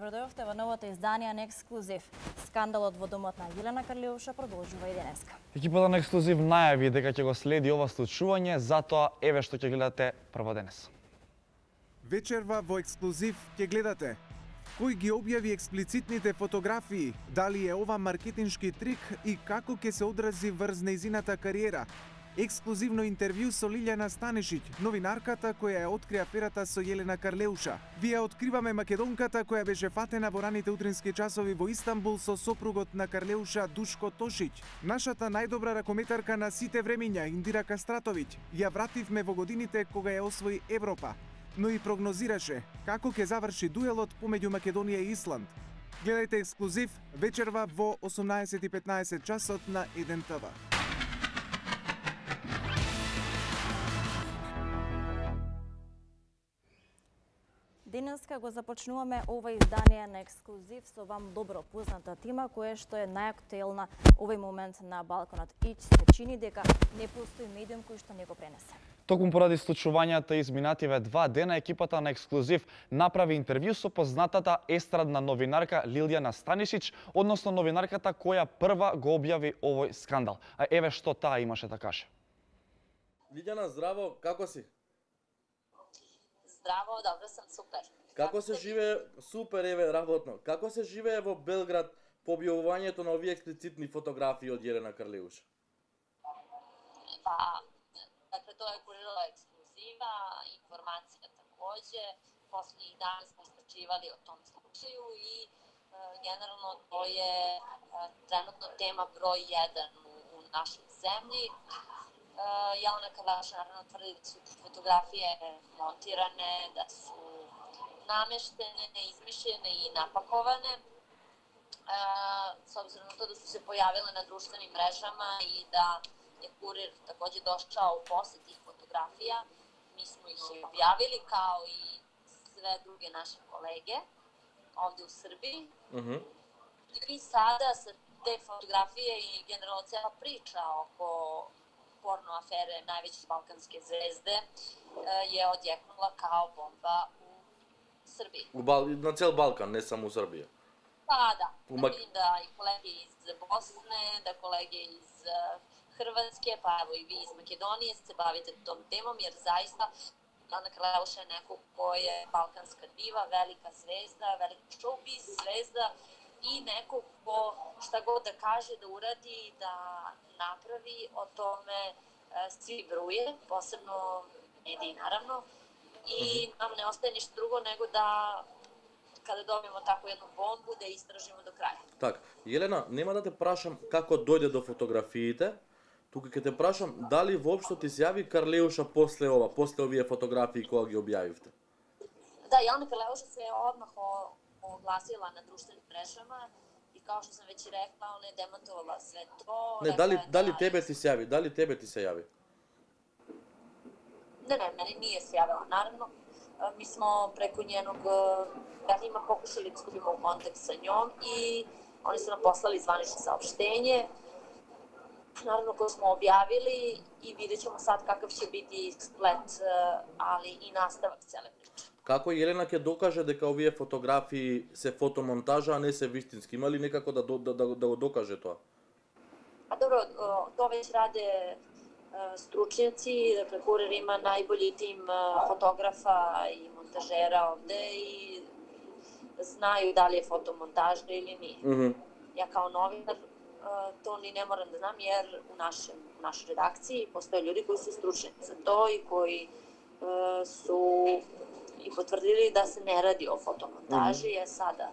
Добродојавте во новото издание на Ексклузив. Скандалот во домот на Јелена Карлеуша продолжува и денеска. Екипата на Ексклузив најави дека ќе го следи ова случување, затоа еве што ќе гледате прво денес. Вечерва во Ексклузив ќе гледате кој ги објави експлицитните фотографии, дали е ова маркетиншки трик и како ќе се одрази врз нејзината кариера. Ексклузивно интервју со Лилјана Станишиќ, новинарката која ја откри аферата со Јелена Карлеуша. Вие откриваме македонката која беше фатена во раните утрински часови во Истанбул со сопругот на Карлеуша Душко Тошиќ. Нашата најдобра ракометарка на сите времиња, Индира Кастратовиќ, ја вративме во годините кога ја освои Европа, но и прогнозираше како ќе заврши дуелот помеѓу Македонија и Исланд. Гледајте Ексклузив вечерва во 18:15 часот на 1 ТВ. Денеска го започнуваме ова издание на Ексклузив со вам добро позната тема која што е најактуелна овој момент на Балканот и се чини дека не постои медиум кој што не го пренесе. Токму поради случувањата изминативе 2 дена, екипата на Ексклузив направи интервју со познатата естрадна новинарка Лилјана Станишиќ, односно новинарката која прва го објави овој скандал. А еве што таа имаше да каже. Лилјана, здраво, како си? Здраво, добро сам, супер. Како се живее, супер, еве, работно. Како се живее во Белград по објавувањето на овие експлицитни фотографии од Јелена Карлеуша? Па, dakle, тоа е курирала Ексклузива, информација такоđe. Последних дана сме истрачивали о том случају и генерално тоа е тренутно тема број 1 у нашoj земји. Јелена Карлеуша наравно тврди да су фотографije монтиране, да су намештене, измишљене и напаковане. С обзиром на тоа да су се појавиле на друштвеним мрежама и да je kurir takođe došao posle tih fotografija. Mi smo ih i objavili kao i sve druge naše kolege ovde u Srbiji. I sada sa te fotografije i generalno cela priča oko porno afere najveće balkanske zvezde je odjeknula kao bomba u Srbiji. Na cel Balkan, ne samo u Srbiji. Pa da, vidim da i kolege iz Bosne, da kolege iz Hrvatske, pa evo i vi iz Makedonije se bavite tom temom, jer zaista Jelena Kарлеуша je neko ko je balkanska diva, velika zvezda, velika showbiz zvezda i neko ko šta god da kaže, da uradi, da napravi, o tome svi bruje, posebno mediji naravno, i nam ne ostaje ništa drugo nego da kada dobijemo takvu jednu bombu, da istražimo do kraja. Так, Јелена, нема да те прашам како дојде до фотографиите, тука ќе те прашам дали воопшто ти се јави Карлеуша после ова, после овие фотографии кога ги објавивте? Da, Jelena Kарлеуша se odmah oglasila na društvenim mrežama i kao što sam već rekla, ona je demantovala sve to. Не, дали тебе ти се јави? Дали тебе ти се јави? Ne, meni nije se javila, naravno. Mi smo preko njenog njima pokušali da stupimo u kontakt sa njom i oni su nam poslali zvanično saopštenje, naravno koje smo objavili i vidjet ćemo sad kakav će biti splet, ali i nastavak cele priče. Како Јелена ќе докаже дека овие фотографии се фотомонтажа, а не се вистински? Има ли некако да го докаже тоа? A dobro, to već rade stručnjaci, dakle Kurir ima najbolji tim fotografa i montažera ovde i znaju da li je fotomontaža ili nije. Ja kao novinar to ni ne moram da znam jer u našoj redakciji postoje ljudi koji su stručnjaci za to i koji su i potvrdili da se ne radi o fotomontaži, je sada.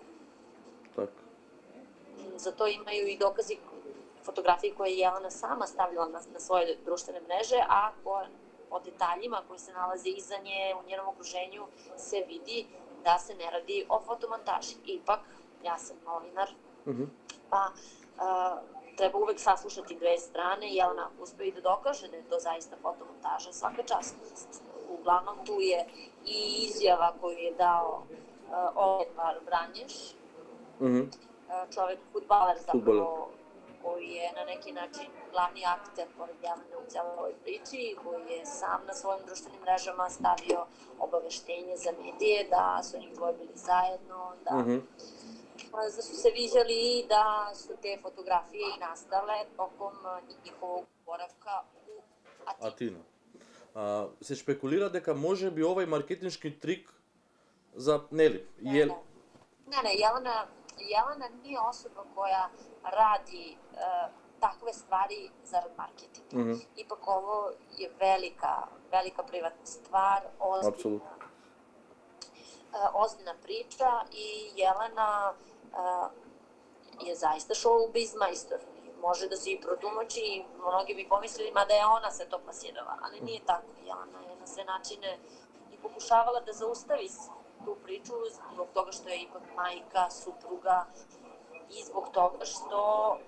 Za to imaju i dokazi fotografije koje je Jelena sama stavljala na svoje društvene mreže, a po detaljima koji se nalaze iza nje u njenom okruženju se vidi da se ne radi o fotomontaži. Ipak, ja sam novinar, pa treba uvek saslušati dve strane. Jelena uspe i da dokaže da je to zaista fotomontaža, svaka čast. Uglavnom tu je i izjava koju je dao Oliver Vranješ, čovek, fudbaler zapravo koji je na neki način glavni akter pored Jelene u celoj ovoj priči, koji je sam na svojim društvenim mrežama stavio obaveštenje za medije da su njih dvoje bili zajedno, da su se viđali i da su te fotografije i nastale tokom njihovog boravka u Atinu. Се шпекулира дека може би овој маркетиншки трик за нели Ne, Jelena nije osoba koja radi takve stvari zarad marketinga. Ipak ovo je velika privatna stvar, ozbiljna priča i Jelena je zaista showbiz majstor. Može da se i protumači i mnogi bi pomislili da je ona se to plasirala, ali nije tako. Jelena je na sve načine i pokušavala da zaustavi tu priču zbog toga što je ipak majka, supruga i zbog toga što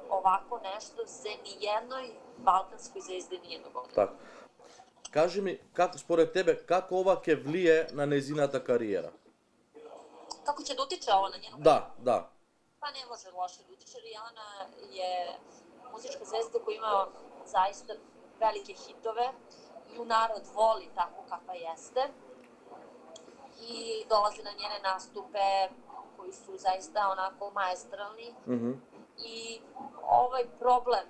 ovako nešto se nijednoj balkanskoj zvezdi nije dogodilo. Така. Кажи ми, според тебе, како ова ќе влие на незината кариера? Kako će da utiče ovo na njenu кариеру? Да. Pa ne može loše da utiče, jer Jelena je muzička zvezda koja ima zaista velike hitove i u narod voli tako kakva jeste. I dolazi na njene nastupe koji su zaista onako maestralni i ovaj problem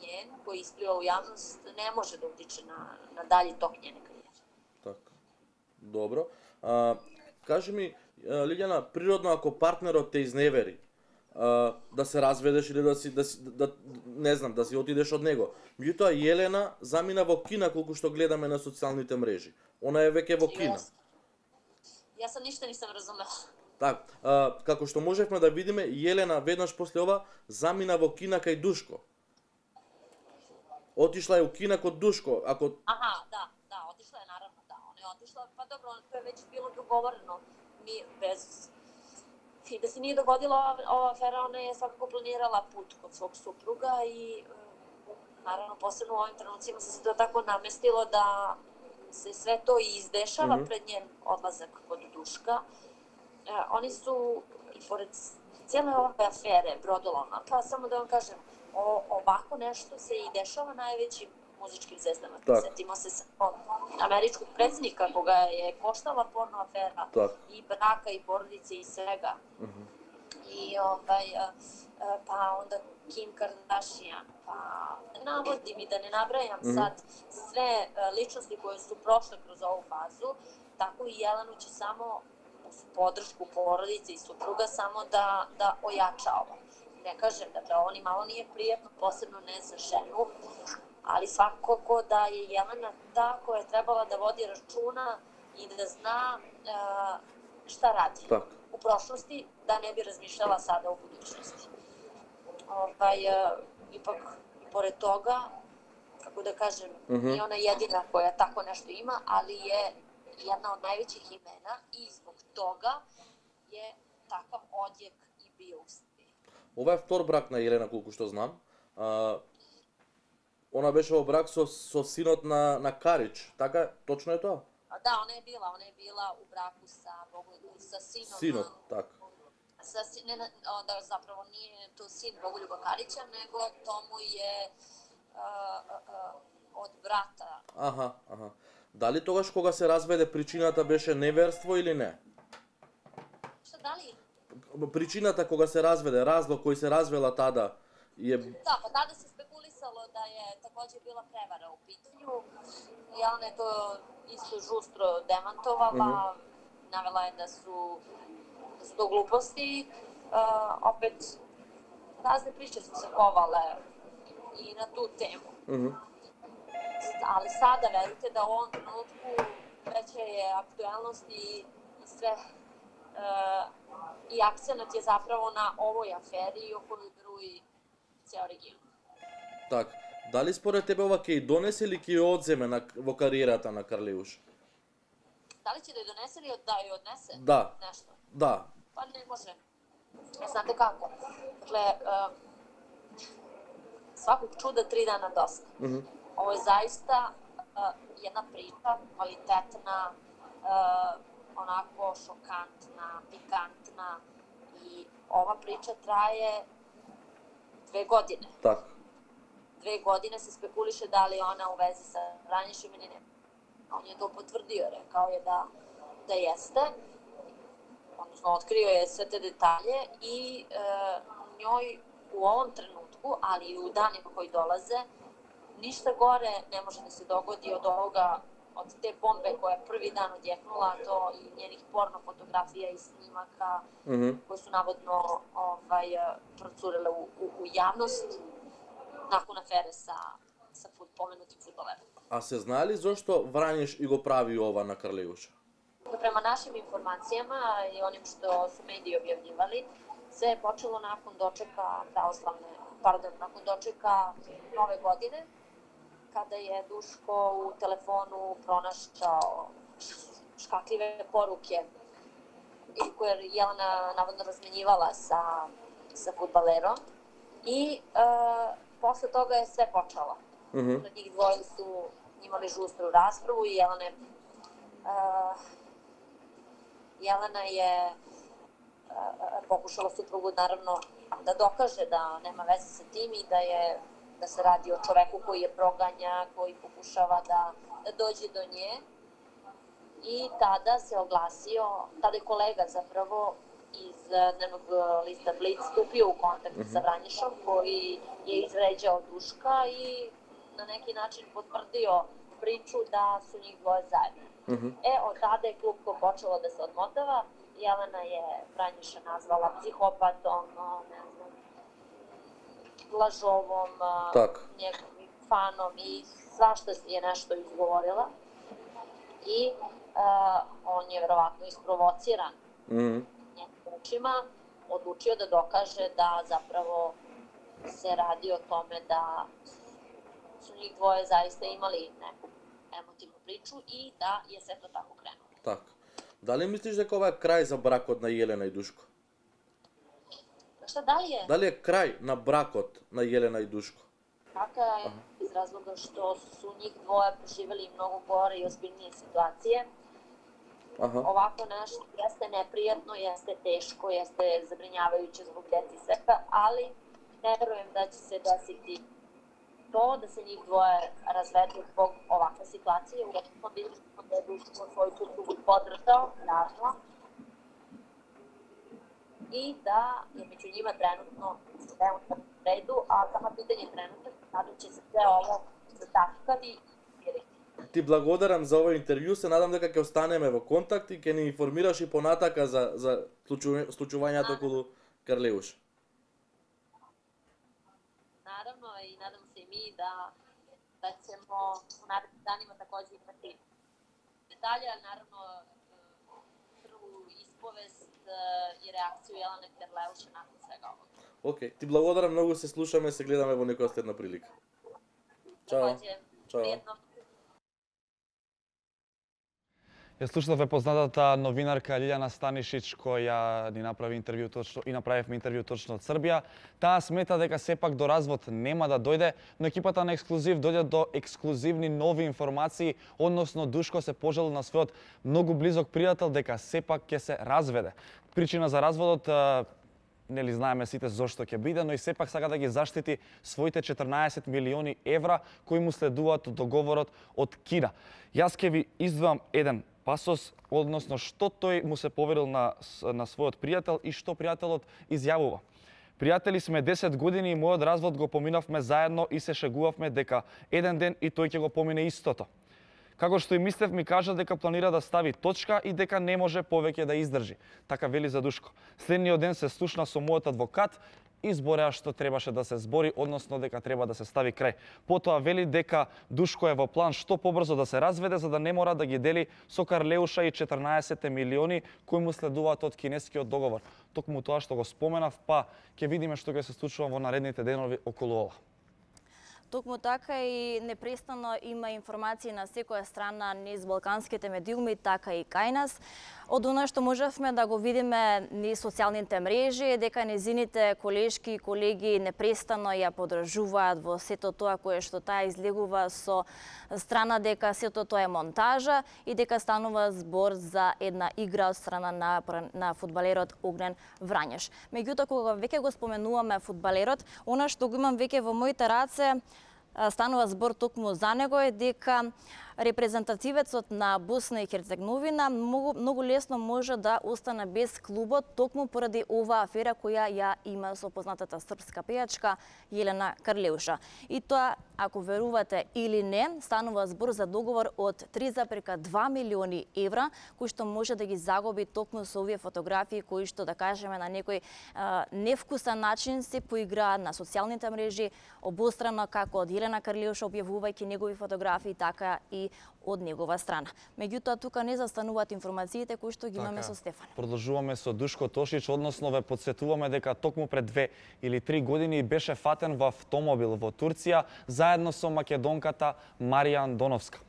njen koji ispliva u javnost ne može da utiče na dalji tok njene karijere. Така. Добро. Кажи ми, Лилјана, природно ако партнерот те изневери, да се разведеш или да не знам, да си отидеш од него. Меѓутоа Јелена замина во Кина колку што гледаме на социјалните мрежи. Она е веќе во Кина. Ja sam ništa nisam razumela. Так, како што можевме да видиме, Јелена веднаш после ова замина во Кина кај Душко. Отишла е у Кина код Душко. Aha, da, otišla je naravno, da. Ona je otišla, pa dobro, to je već bilo dogovoreno. I da se nije dogodila ova afera, ona je svakako planirala put kod svog supruga i naravno posebno u ovim trenucima se to tako namestilo da se sve to i izdešava pred njen odlazak kod Duška. Oni su, i pored cijele ove afere Brodoloma, pa samo da vam kažem, ovako nešto se i dešava najvećim muzičkim zvezdama. Sjetimo se američkog predsjednika koga je koštala porno afera i braka i porodice i svega. I pa onda Kim Kardashian, pa navodim i da ne nabrajam sad sve ličnosti koje su prošle kroz ovu fazu, tako i Jelenu će samo uz podršku porodice i supruga samo da ojača ovo. Ne kažem, dakle, ovo ni malo nije prijetno, posebno ne za ženu, ali svakako da je Jelena ta koja je trebala da vodi računa i da zna šta radi u prošlosti, da ne bi razmišljala sada u budućnosti. Ipak, pored toga, kako da kažem, nije ona jedina koja tako nešto ima, ali je jedna od najvećih imena i zbog toga je takav odjek i bio u Srbiji. Ова е втор брак на Јелена, колку што знам. Она беше во брак со синот на Карич, така? Точно е тоа? Da, ona je bila u braku sa sinom. Sinot, tako. Da zapravo nije to sin Bogoljuba Karića, nego to mu je od brata. Аха. Дали тогаш кога се разведе причината беше неверство или не? Што, дали? Причината кога се разведе, разлог кој се развела тада je... Da, pa tada se spekulisalo da je takođe bila prevara u pitanju. Jelena je to isto žustro demantovala, navela je da su to gluposti. Opet, razne priče su se kovale i na tu temu. Ali sada, verujte da u ovom trenutku veća je aktuelnost i sve i akcenat je zapravo na ovoj aferi o kojoj bruji ceo region. Так, дали според тебе ова ќе донесе или ќе одземе во кариерата на Карлеуш? Дали ќе да ја донесе или да ја однесе? Да. Нешто? Да. Pa ne može. Znate kako? Dakle, svakog čuda 3 dana dosta. Ovo je zaista jedna priča, kvalitetna, onako šokantna, pikantna i ova priča traje 2 godine. Така. 2 godine se spekuliše da li ona u vezi sa Vranješem ili ne. On je to potvrdio, rekao je da jeste. Odnosno, otkrio je sve te detalje i njoj u ovom trenutku, ali i u danima koji dolaze, ništa gore ne može da se dogodi od ovoga, od te bombe koja je prvi dan odjeknula, to i njenih porno fotografija i snimaka koje su navodno procurele u javnost nakon afere sa pomenutim fudbalerom. А се знае ли зошто Врањеш и го прави ова на Карлеуша? Prema našim informacijama i onim što su mediji objavljivali, sve je počelo nakon dočeka nakon dočeka Nove godine, kada je Duško u telefonu pronašao škakljive poruke koje je Jelena navodno razmenjivala sa fudbalerom i posle toga je sve počelo. Njih dvoje su imali žustru raspravu i Jelena je pokušala suprugu naravno da dokaže da nema veze sa tim i da se radi o čoveku koji je proganja, koji pokušava da dođe do nje. I tada se oglasio, tada je kolega zapravo iz dnevnog lista Blic stupio u kontakt sa Vranješom koji je izvređao Duška i na neki način potvrdio priču da su njih dvoje zajedno. Od tada je klupko počelo da se odmotava. Jelena je Vranješa nazvala psihopatom, lažovom, njegovim fanom i svašta je nešto izgovorila. I on je verovatno isprovociran njegovim očima, odlučio da dokaže da zapravo se radi o tome da su njih dvoje zaista imali neku emotivnu priču i da je sve to tako krenulo. Така. Дали мислиш дека ова е крај за бракот на Јелена и Душко? Šta dalje? Дали е крај на бракот на Јелена и Душко? Така е, iz razloga što su njih dvoje preživeli mnogo gore i ozbiljnije situacije. Ovako nešto jeste neprijatno, jeste teško, jeste zabrinjavajuće zbog dece i svega, ali ne verujem da će se desiti to da se njih dvoje razvedu zbog ovakve situacije. Uvijek smo vidjeli da je Duško svoju suprugu podržao, naravno, i da je među njima trenutno sve u redu, a samo pitanje trenutno kada će se sve ovo zataškati i smiriti. Ти благодарам за овој интервју, се надам дека ќе останеме во контакт и ќе ни информираш и понатака за случувањето околу Карлеуш. Naravno i nadam se i mi da ćemo u narednim danima takođe imati detalje, ali naravno prvu ispovest i reakciju Jelene Karleuša nakon svega ovoga. Океј, ти благодарам многу, се слушаме, се гледаме во некоја следна прилика. Чао. Чао. Ја слушнавме познатата новинарка Лилјана Станишич која ни направи интервју точно и направивме интервју точно од Србија. Таа смета дека сепак до развод нема да дојде, но екипата на Ексклузив дојде до ексклузивни нови информации, односно Душко се пожалил на својот многу близок пријател дека сепак ќе се разведе. Причина за разводот нели знаеме сите зошто ќе биде, но и сепак сака да ги заштити своите 14 милиони евра кои му следуваат од договорот од Кина. Јас ќе ви издвојам еден пасос, односно што тој му се поверил на својот пријател и што пријателот изјавува. Пријатели сме 10 години и мојот развод го поминавме заедно и се шегувавме дека еден ден и тој ќе го помине истото. Како што и мислев, ми кажа дека планира да стави точка и дека не може повеќе да издржи. Така вели за Душко. Следниот ден се слушна со мојот адвокат и збореа што требаше да се збори, односно дека треба да се стави крај. Потоа вели дека Душко е во план што побрзо да се разведе за да не мора да ги дели со Карлеуша и 14 милиони кои му следуваат од кинескиот договор. Токму тоа што го споменав, па ќе видиме што ќе се случува во наредните денови околу ова. Токму така и непрестанно има информации на секоја страна низ балканските медиуми, така и кај нас. Од она што можевме да го видиме низ социјалните мрежи, дека незините колешки и колеги непрестано ја поддржуваат во сето тоа кое што таа излегува со страна дека сето тоа е монтажа и дека станува збор за една игра од страна на фудбалерот Огнен Врањеш. Меѓутоа, кога веќе го споменуваме фудбалерот, она што го имам веќе во моите раце, станува збор токму за него е дека репрезентативецот на Босна и Херцеговина многу лесно може да остане без клубот токму поради оваа афера која ја има со познатата српска пејачка Јелена Карлеуша. И тоа, ако верувате или не, станува збор за договор од 3,2 милиони евра, кои што може да ги загуби токму со овие фотографии кои што, да кажеме, на некој невкусен начин се поиграат на социјалните мрежи, обострано како од Јелена Карлеуша објавувајќи негови фотографии, така и од негова страна. Меѓутоа, тука не застануваат информациите кои што ги имаме со Стефан. Продолжуваме со Душко Тошич, односно ве подсетуваме дека токму пред 2 или 3 години беше фатен во автомобил во Турција заедно со македонката Марија Андоновска.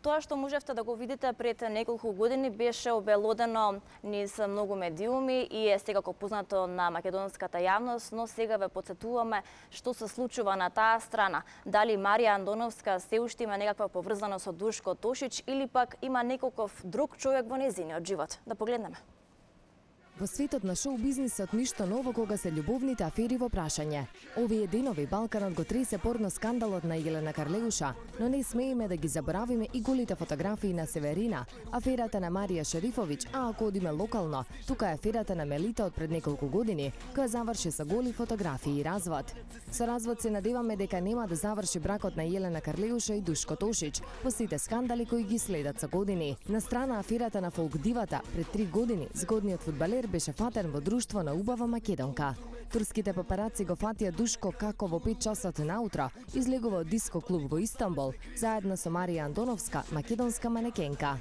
Тоа што можевте да го видите пред неколку години беше обелодено низ многу медиуми и е секако познато на македонската јавност, но сега ве подсетуваме што се случува на таа страна. Дали Марија Андоновска се уште има некаква поврзаност со Душко Тошич или пак има неколков друг човек во нејзиниот живот. Да погледнеме. Во светот на шоу-бизнисот ништо ново кога се љубовните афери во прашање. Овие денови Балканот го тресе порно скандалот на Јелена Карлеуша, но не смееме да ги заборавиме и голите фотографии на Северина, аферата на Марија Шерифовиќ, а ако одиме локално, тука е аферата на Мелита од пред неколку години, која заврши со голи фотографии и развод. Со развод се надеваме дека нема да заврши бракот на Јелена Карлеуша и Душко Тошич, по сите скандали кои ги следат со години. На страна аферата на фолк дивата, пред 3 години згодниот фудбалер беше фатен во друштво на убава македонка. Турските папараци го фатија Душко како во 5 часот наутро излегува од диско клуб во Истанбул, заедно со Марија Андоновска, македонска манекенка.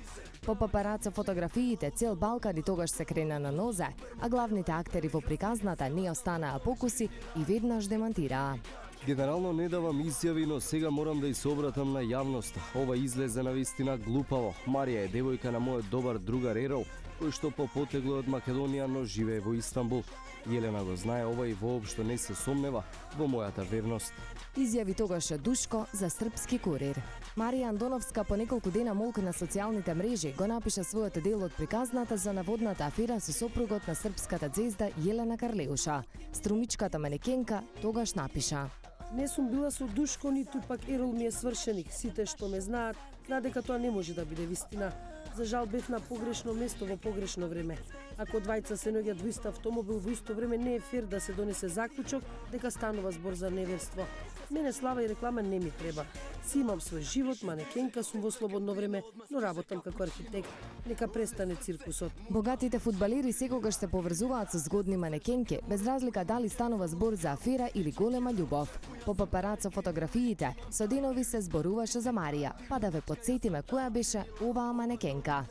По папараца фотографиите цел Балкан и тогаш се крена на нозе, а главните актери во приказната не останаа покуси и веднаш демантираа. Генерално не давам изјави, но сега морам да се обратам на јавноста. Ова излезе на вистина глупаво. Марија е девојка на мојот добар другар Ерол, кој што попотегло од Македонија, но живее во Истанбул. Јелена го знае ова и воопшто не се сомнева во мојата верност. Изјави тогаш Душко за Српски курир. Марија Андоновска по неколку дена молка на социјалните мрежи го напиша својот дел од приказната за наводната афера со сопругот на српската ѕезда Јелена Карлеуша. Струмичката манекенка тогаш напиша: Не сум била со Душко, ниту пак Ерол ми е свршеник. Сите што ме знаат дека тоа не може да биде вистина. За жал бев на погрешно место во погрешно време. Ако двајца се наоѓаат во ист автомобил во исто време, не е фер да се донесе заклучок дека станува збор за неверство. Мене слава и реклама не ми треба. Си имам свој живот, манекенка сум во слободно време, но работам како архитект. Нека престане циркусот. Богатите фудбалери секогаш се поврзуваат со згодни манекенки, без разлика дали станува збор за афера или голема љубов. По папараца фотографиите, со денови се зборуваше за Марија, па да ве подсетиме која беше оваа манекенка.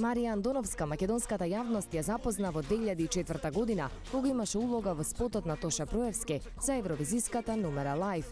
Марија Андоновска македонската јавност ја запозна во 2004 година, кога имаше улога во спотот на Тоша Проевски за евровизиската Numera Live.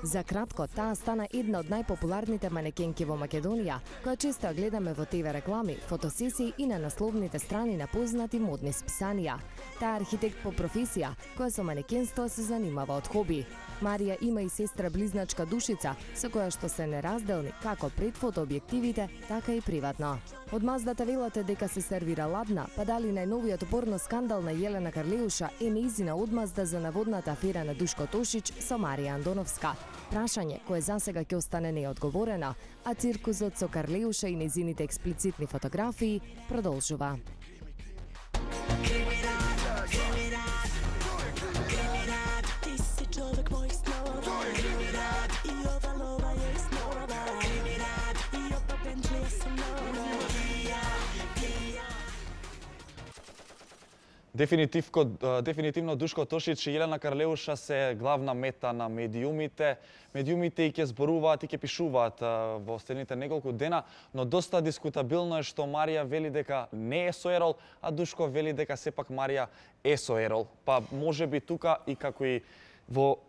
За кратко, таа стана една од најпопуларните манекенки во Македонија, која често ја гледаме во ТВ реклами, фотосесии и на насловните страни на познати модни списанија. Таа е архитект по професија, која со манекенство се занимава од хоби. Марија има и сестра близначка Душица, со која што се неразделни како пред фотообјективите, така и приватно. Од маздата велате дека се сервира ладна, па дали најновиот порно скандал на Јелена Карлеуша е нејзина одмазда за наводната афера на Душко Тошич со Марија Андоновска. Прашање кое засега ќе остане неодговорено, а циркусот со Карлеуша и нејзините експлицитни фотографии продолжува. Дефинитивно Душко Тошич и Јелена Карлеуша се главна мета на медиумите. Медиумите и ќе зборуваат и ќе пишуваат во следните неколку дена, но доста дискутабилно е што Марија вели дека не е со Ерол, а Душко вели дека сепак Марија е со Ерол. Па може би тука и како и во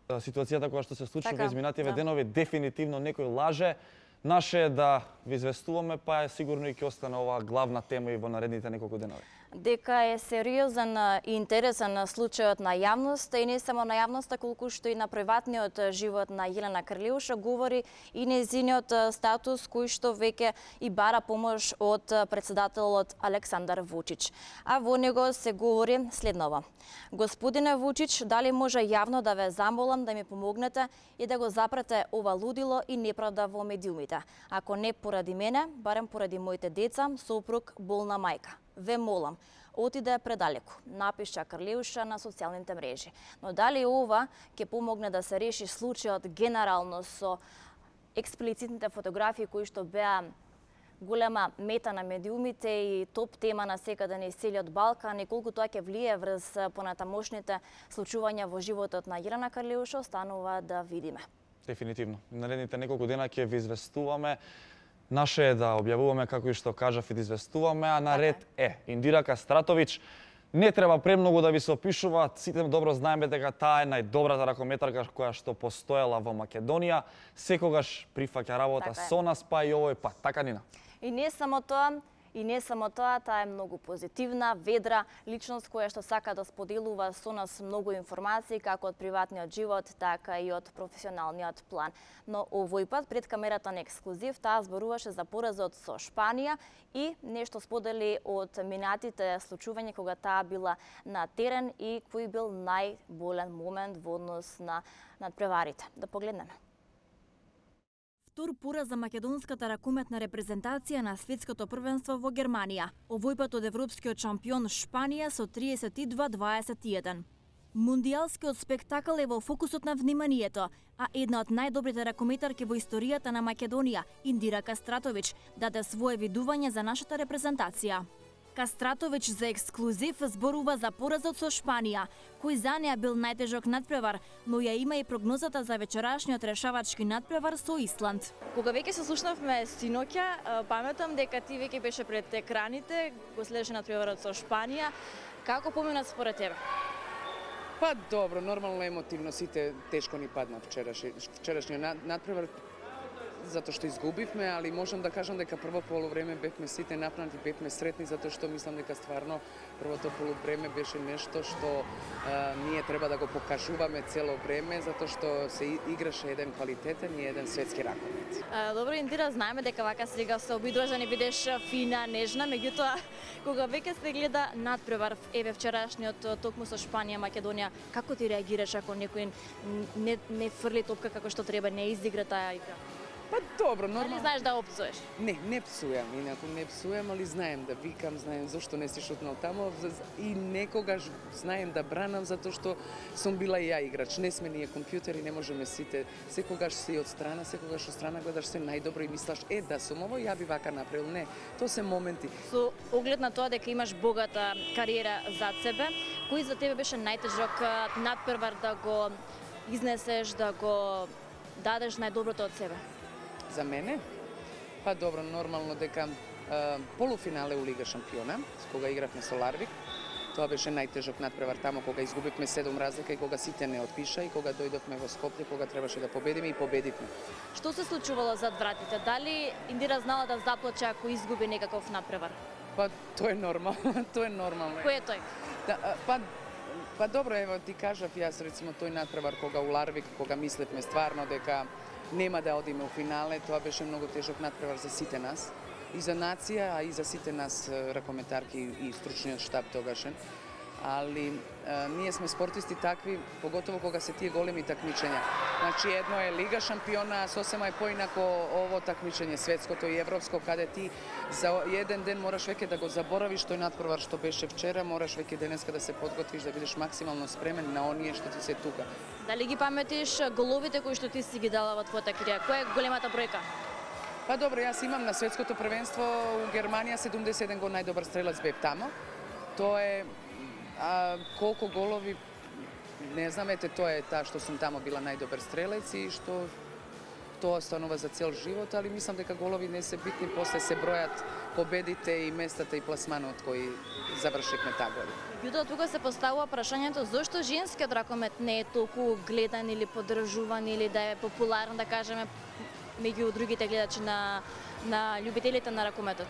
ситуацијата која што се случува изминативе денови, дефинитивно некој лаже. Наше е да ви известуваме, па е сигурно и ќе остане оваа главна тема и во наредните неколку денови. Дека е сериозен и интересен случајот на јавноста и не само на јавноста, колку што и на приватниот живот на Јелена Карлеуша, говори и нејзиниот статус кој што веќе и бара помош од претседателот Александар Вучич. А во него се говори следново: Господине Вучич, дали може јавно да ве замолам да ми помогнете и да го запрете ова лудило и неправда во медиумите? Ако не поради мене, барем поради моите деца, сопруг, болна мајка. Ве молам, отиде предалеку, напиша Карлеуша на социјалните мрежи. Но дали ова ќе помогне да се реши случајот генерално со експлицитните фотографии кои што беа голема мета на медиумите и топ тема на секаде на целиот Балкан и колку тоа ќе влие врз понатамошните случувања во животот на Јелена Карлеуша, останува да видиме. Дефинитивно. Наредните неколку дена ќе ви известуваме. Наше е да објавуваме, како и што кажав, и да известуваме, а на ред е Индира Кастратовиќ. Не треба премногу да ви се опишува, сите добро знаеме дека таа е најдобрата ракометарка која што постоела во Македонија. Секогаш прифаќа работа со нас, па и овој пат. Така, Нина? И не само тоа, таа е многу позитивна, ведра личност која што сака да споделува со нас многу информации како од приватниот живот, така и од професионалниот план. Но овој пат пред камерата на ексклузив таа зборуваше за поразот со Шпанија и нешто сподели од минатите случувања кога таа била на терен и кој бил најболен момент во однос на надпреварите. Да погледнеме. Втор пораз за македонската ракометна репрезентација на светското првенство во Германија. Овој пат од европскиот шампион Шпанија со 32-21. Мундијалскиот спектакл е во фокусот на вниманието, а една од најдобрите ракометарки во историјата на Македонија, Индира Кастратовиќ, даде свое видување за нашата репрезентација. Кастратовиќ за ексклузив зборува за поразот со Шпанија, кој за неа бил најтежок надпревар, но ја има и прогнозата за вечерашниот решавачки надпревар со Исланд. Кога веќе се слушнавме синоќа, паметам дека ти веќе беше пред екраните, го следеше надпреварот со Шпанија. Како помина според тебе? Па добро, нормално емотивно, сите тешко ни падна вчерашниот надпревар, затоа што изгубивме, али можам да кажам дека прво полувреме бевме сите напнати, бевме сретни, затоа што мислам дека стварно првото полувреме беше нешто што ние треба да го покажуваме цело време, затоа што се играше еден квалитетен и еден светски ракомет. Добро, Индира, знаеме дека вака сега се обидуваш да не бидеш фина, нежна, меѓутоа кога веќе се гледа надпревар, еве вчерашниот токму со Шпанија, Македонија, како ти реагираш ако некој не фрли топка како што треба, не изигра таа игра? Па добро, нормално. Дали знаеш да опцуеш? Не псујам, инаку не псујам, али знаем да викам, знаем зошто не си шутнал тамо и некогаш знаем да бранам затоа што сум била и ја играч. Не сме ние компјутери, не можеме сите. Секогаш си од страна, секогаш од страна гледаш се најдобро и мислаш да сум ово, ја би вака направил. Не, тоа се моменти. Со оглед на тоа дека имаш богата кариера зад себе, кој за тебе беше најтежок надпревар да го изнесеш, да го дадеш најдоброто од себе? За мене? Па добро, нормално дека полуфинале у Лига шампиона, кога игравме со Ларвик, тоа беше најтежок надпревар тамо кога изгубивме 7 разлика и кога сите не отпиша и кога дојдовме во Скопје, кога требаше да победиме и победивме. Што се случувало зад вратите? Дали Индира знала да заплаче ако изгуби некаков надпревар? Па тоа е нормално, тоа е нормално. Кој е тој? Па добро, ево ти кажав јас рецимо тој надпревар кога у Ларвик, кога мислевме стварно дека нема да одиме у финале, тоа беше многу тежок надпревар за сите нас. И за нација, а и за сите нас ракометарки и стручниот штаб тогашен. Али ние сме спортисти такви, поготово кога се тие големи такмичења. Значи едно е Лига шампиона, а сосема е поинако ово такмичење светското и европско, каде ти за еден ден мораш веќе да го заборавиш тој надпревар што беше вчера, мораш веќе денеска да се подготвиш, да бидеш максимално спремен на оние што ти се тука. Дали ги паметиш головите кои што ти си ги дала во твојата кариера? Која е големата бројка? Па добро, јас имам на светското првенство у Германија 71 гол најдобар стрелец бев тамо. Тоа е колку голови, не знам, тоа е таа што сум тамо била најдобар стрелец и што тоа останува за цел живот, али мислам дека голови не се битни, после се бројат победите и местата и пласманот кои завршивме таа година. Меѓутоа, тука се поставува прашањето зошто женскиот ракомет не е толку гледан или поддржуван или да е популарен, да кажеме, меѓу другите гледачи на љубителите на ракометот?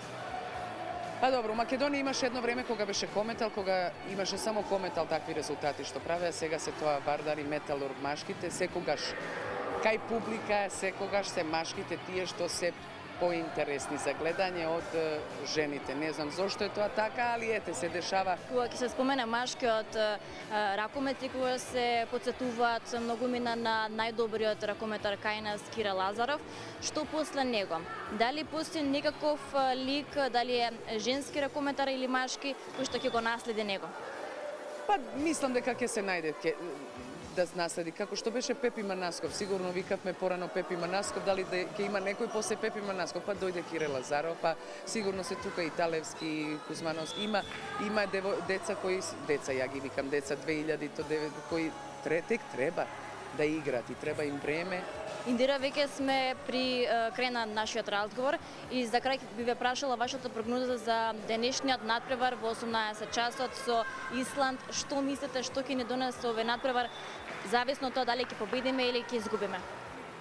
Па добро, Македонија имаше едно време кога беше кометал, кога имаше само кометал такви резултати што правеа, сега се тоа Вардар и Металург машките, секогаш кај публика, секогаш се машките тие што се поинтересни за гледање од жените. Не знам зошто е тоа така, али ете се дешава. Кога ќе се спомене машкиот ракомет и кога се потсетуваат многумина на најдобриот ракометар кај Кира Лазаров, што после него? Дали постои некаков лик, дали е женски ракометар или машки, кој што ќе го наследи него? Па мислам дека ќе се најде да наследи, како што беше Пепи Манасков. Сигурно викавме порано Пепи Манасков, дали ќе има некој после Пепи Манасков, па дојде Кире Лазаров, па сигурно се тука и Талевски, и Кузмановски. Има деца кои, ја ги викам, деца 2000-то, кои тек треба да играат и треба им време. Индира, веќе сме при крај на нашиот разговор и за крај би ве прашала вашата прогноза за денешниот натпревар во 18 часот со Исланд. Што мислите, што ќе ни донесе овој натпревар, зависно од тоа дали ќе победиме или ќе изгубиме?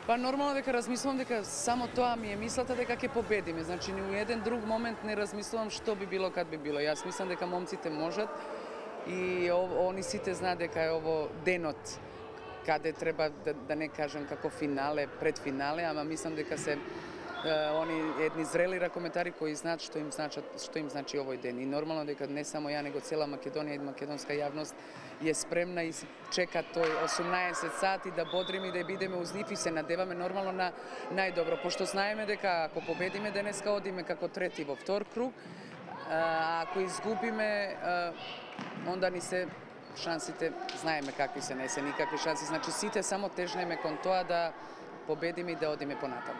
Па нормално дека размислувам дека само тоа ми е мислата дека ќе победиме. Значи ни у еден друг момент не размислувам што би било кад би било. Јас мислам дека момците можат и они сите знаат дека е ово денот каде треба да не кажам како финале, предфинале, ама мислам дека се они едни зрели ракометари кои знаат што им значи овој ден. И нормално дека не само ја, него цела Македонија и македонска јавност е спремна и чека тој 18 сати да бодриме и да бидеме уз нив и се надеваме нормално на најдобро. Пошто знаеме дека ако победиме денеска одиме како трети во втор круг, ако изгубиме онда ни се шансите, знаеме какви се, не се никакви шанси, значи сите само тежнеме кон тоа да победиме и да одиме понатаму.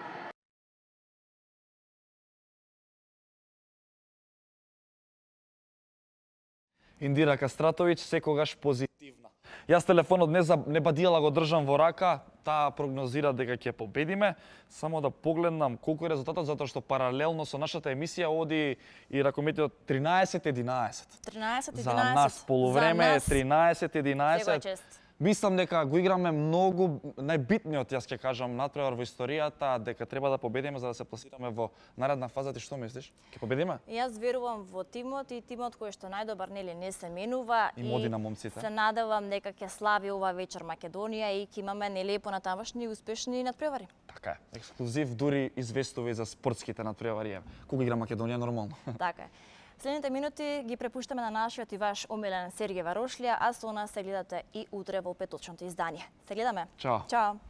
Индира Кастратовиќ, секогаш позитивна. Јас телефонот не бадијала го држам во рака, таа прогнозира дека ќе победиме. Само да погледнам колку е резултатот, затоа што паралелно со нашата емисија оди и ракометот 13-11. 13-11. За нас полувреме е 13-11. Мислам дека го играме многу најбитниот, јас ќе кажам, натпревар во историјата, дека треба да победиме за да се пласираме во наредна фаза. Ти што мислиш? Ќе победиме? Јас верувам во тимот и тимот кој што најдобар нели не се менува и моди на момците. Се надевам дека ќе слави ова вечер Македонија и ќе имаме нели понатамошни успешни натпревари. Така е. Ексклузив дури известува за спортските натпревари. Кога игра Македонија нормално. Така е. Следните минути ги препуштаме на нашиот и ваш омилен Сергеј Варошлија, а со нас се гледате и утре во петочното издание. Се гледаме. Чао. Чао.